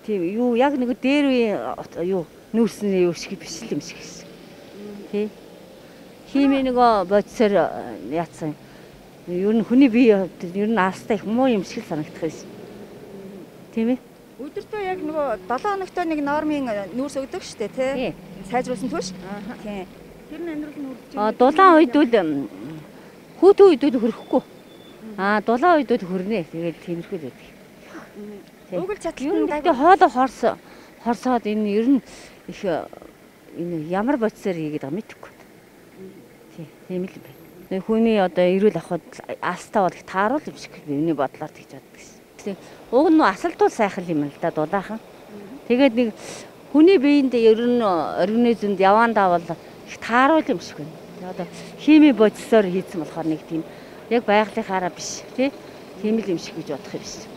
Тийм юу яг нэг дээр үе юу нүүрсний юу шиг биш юм шиг гэсэн. Тий. Хими нөгөө бодисоор яатсан. Ер нь хүний бие ер нь аастай их муу юм шиг санагдах байсан. Тийм ээ. Өдөртөө яг нөгөө 7 хоногтой нэг нормын нүүрс өгдөг штэ тий. Сайжруулсан түүш. Тийм. Тэр нь амьдрал нь үрдэж. Дулаан үйдүүл хүүтэн үйдүүл хөрөхгүй. Дулаан үйдүүл хөрнэ. Тэгээд тиймэрхүү л байдаг. Угэл чатлан гэдэг хоолой хорсоод энэ ер нь их энэ ямар бодисоор хийгээд байгаа мэдэхгүй. Тийм л байна. Хүний одоо эрүүл авахд аастаа бол их тааруул юм шиг миний бодлоор тэгж боддог гэсэн. Уг нь асалдуул сайхан юм л да дулаахан. Тэгээд нэг хүний биеинд ер нь организмд явандаа бол их тааруул юм шиг байна. Одоо хими бодисоор хийсэн болохоор нэг тийм яг байгалийнхаараа биш тийм л юм шиг гэж бодох юм биш.